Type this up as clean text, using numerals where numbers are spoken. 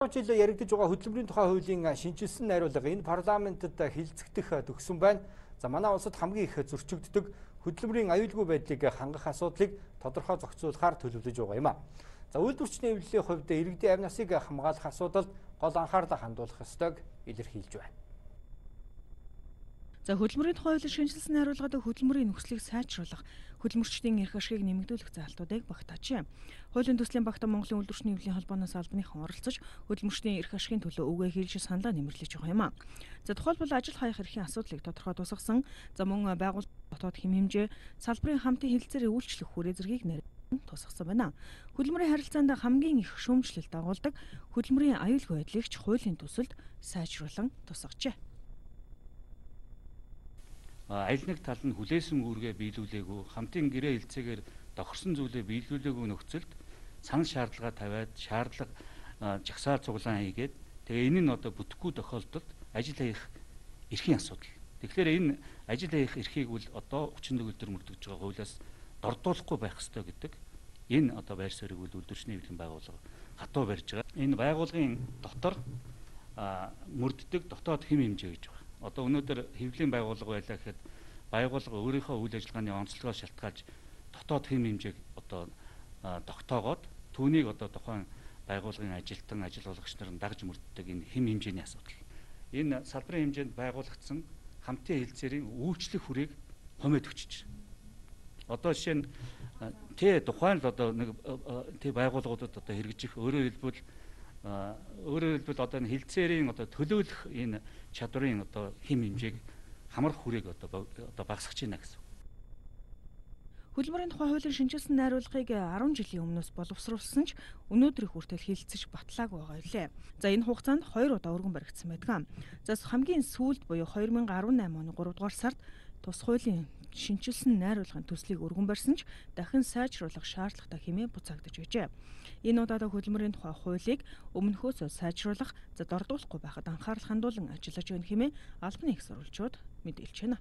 жилээр яригдж байгаа хөдөлмөрийн тухай хуулийн шинжилсэн найруулга энэ парламентэд хилцэгдэх төгсөн байна. За манай улсад хамгийн их зөрчигддөг хөдөлмөрийн аюулгүй байдлыг хангах асуудлыг тодорхой зохицуулахаар төлөвлөж байгаа юм а. За үйлдвэрчний эвлэлийн хувьд иргэдийн амь насыг хамгаалах асуудалд гол анхаарлаа хандуулах ёстойг илэрхийлж байна. За хөдөлмөрийн тухай хуулийн шинжилсэн найруулгад хөдөлмөрийн нөхцөлийг сайжруулах, хөдөлмөрчдийн эрх ашигыг нэмэгдүүлэх заалтуудыг багтаажээ. Хуулийн төслийн багтаа Монголын үйлдвэрчний эвлэлийн холбооноос албаныхан оролцож хөдөлмөрчдийн эрх ашигын төлөө үгээ хэлж саналаа нэмэрлэж байгаа юм а. За тухайлбал ажил хаях эрхийн асуудлыг тодорхой тусгасан, за мөн байгууллагын дотоод хэм хэмжээ, салбарын хамтын хэлэлцээр үйлчлэх хүрээ зэргийг тусгасан байна. Хөдөлмөрийн харилцаанд хамгийн их шүүмжлэлт дагуулдаг хөдөлмөрийн аюулгүй байдлыг ч хуулийн төсөлд сайжруулан тусгажээ. Аль нэг тал нь хүлээсэн үүргээ биелүүлээгүй, хамтын гэрээ хэлцээгээр тохирсон зүйлээ биелүүлээгүй нөхцөлд санал шаардлага тавиад шаардлага жагсаал цуглаан хийгээд тэгээ энэ нь одоо бүтэхгүй тохиолдолд ажил хаях эрхийн асуудал. Тэгэхээр энэ ажил хаях эрхийг бол одоо 31 өдөр мөрдөж байгаа хуулиас дордуулахгүй байх ёстой гэдэг энэ одоо байр суурийг үл үйлдвэрчний эвлэлийн байгууллага хатуу барьж байгаа. Энэ байгууллагын дотор мөрддөг дотоод хэм хэмжээ гэж байна. Одоо өнөөдөр хэвлэлийн байгууллага байлаа гэхэд байгууллага өөрийнхөө үйл ажиллагааны онцлогоос шалтгаалж дотоод хэм хэмжээг одоо тогтоогоод түүнийг одоо тухайн байгууллагын ажилтан ажил олгогч нар дагж мөрддөг энэ хэм хэмжээний асуудал. Энэ салбарын хэмжээнд байгуулагдсан хамтын хэлцээрийн үйлчлэх хүрээг хумид өчөж. Одоо жишээ нь тухайн л одоо нэг байгууллагуудад одоо хэрэгжих өөрөөр хэлбэл одоо энэ хэлцээрийн одоо төлөөлөх энэ чадварын одоо хэм хэмжээг хамрах хүрээг одоо багасгах чинь гэсэн. Хөдөлмөрийн тухай хуулийн шинжилсэн найруулгыг 10 жилийн өмнөөс боловсруулсан ч өнөөдрийг хүртэл хилцэж батлаагүй байгаа юлээ. За энэ хугацаанд 2 удаа өргөн баригдсан байдаг. За хамгийн сүүлд буюу 2018 оны 3 дугаар сард тус хуулийн шинжилсэн найруулгын төслийг өргөн барьсан ч дахин сайжруулах шаардлагатай хэмээн буцаагдаж байжээ. Энэ удаад хөдөлмөрийн тухай хуулийг өмнөхөөсөө сайжруулах, дордуулахгүй байхад анхаарал хандуулан ажиллаж байна хэмээн албаны их сурвалжууд мэдээлж байна.